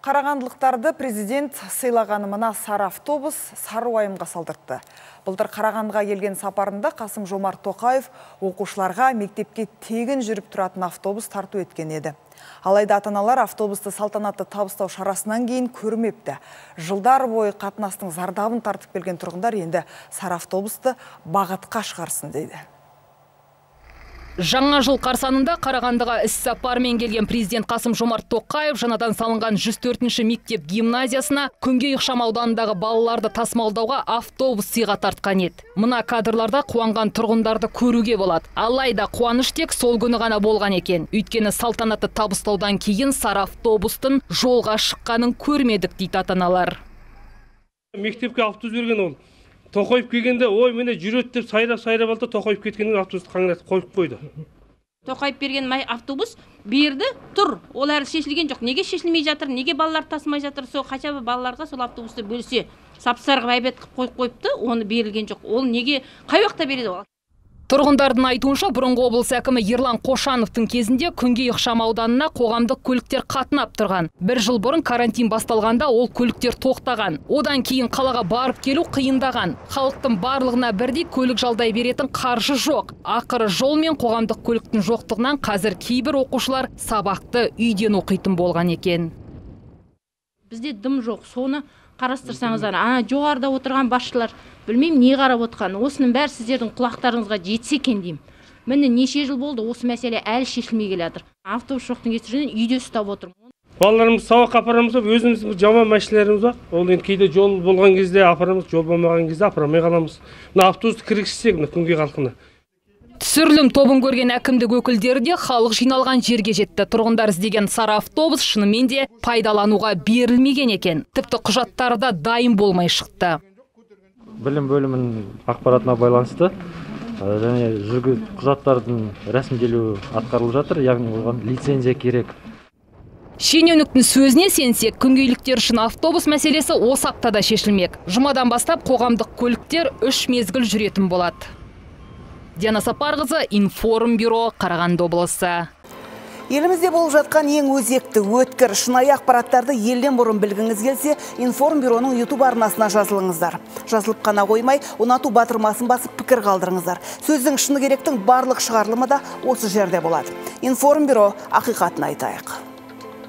Қарағандылықтарды президент сыйлағаны мына сары автобус сары уайымға салдыртты. Былтыр Қарағандыға келген сапарында Қасым-Жомарт Тоқаев оқушыларға мектепке тегін жүріп тұратын автобус тарту еткен еді. Алайда ата-аналар автобусты салтанатты табыстау шарасынан кейін көрмепті. Жылдар бойы қатынастың зардабын тартып келген тұрғындар енді сары автобусты бағытқа шығарсын дейді. Жаңа жыл қарсаңында Қарағандыға іс-сапармен келген президент Қасым-Жомарт Тоқаев жаңадан салынған 104-ші мектеп гимназиясына Күнгей ықшамауданындағы балаларды тасымалдауға автобус сыйға тартқан еді. Мына кадрларда қуанған тұрғындарды көруге болады. Алайда қуаныш тек сол күні ғана болған екен. Өйткені салтанатты табыстаудан кейін сары автобустың жолға шыққанын көрмедік дейді ата-аналар. Мектепке автобус берген ол. Тоқайып келгенде, ой, мені жүрет деп сайрап алды, Тоқайып кеткеннен автобусты қаңыратып қойып қойды. Тоқайып берген автобус берді, тұр. Ол әлі шешілген жоқ. Неге шешілмей жатыр, неге балалар тасымай жатыр, сол қача балаларға сол автобусты бөлсе, сап-сарғы әйбет қойып қойыпты, оны берілген жоқ. Ол неге қай уақытта береді ол? Тұрғындардың айтуынша, бұрынғы облыс әкімі Ерлан Қошановтың кезінде Күнгей ықшамауданына қоғамдық көліктер қатынап тұрған. Бір жыл бұрын карантин басталғанда ол көліктер тоқтаған. Одан кейін қалаға барып келу қиындаған. Халықтың барлығына бірдей көлік жалдай беретін қаржы жоқ. Ақыры жол мен қоғамдық көліктің жоқтығынан қазір кейбір оқушылар сабақты үйден оқитын болған екен. Бізде дым жоқ, соны қарастырсаңыздар, жоғарыда отырған басшылар білмеймін не қарап отқан. Осының бәрі сіздердің құлақтарыңызға жетсе екен деймін. Міне неше жыл болды, осы мәселе әлі шешілмей келе жатыр. Автобус жоқтың кесірінен үйде ұстап отырмын. Балаларымыз сабаққа апарамыз, өзіміз жаман машиналарымыз бар. Ол енді кейде жол болған кезде апарамыз, жол болмаған кезде апарамай қаламыз. Мына автобусты кіргізсек, мына Күнгей халқына. Түсірілім тобын көрген әкімдік өкілдері де халық жиналған жерге жетті. Тұрғындар іздеген сары автобус шынымен де пайдалануға берілмеген екен. Тіпті құжаттары да дайын болмай шықты. Білім бөлімінің ақпаратына байланысты және құжаттардың рәсімделуі атқарылып жатыр, яғни оған лицензия керек. Шенеуніктің сөзіне сенсек, күнгейліктер үшін автобус мәселесі осы аптада шешілмек. Жұмадан бастап қоғамдық көліктер 3 мезгіл жүретін болады. Диана Сапарқызы, Информбюро, Қарағанды облысы. Елімізде болып жатқан ең өзекті, өткір, шынайы ақпараттарды елден бұрын білгіңіз келсе, Информбюроның YouTube арнасына жазылыңыздар. Жазылып қана қоймай, ұнату батырмасын басып пікір қалдырыңыздар. Сөздің шыны керектің барлық шығарылымы да осы жерде болады. Информбюро, ақиқатын айтайық.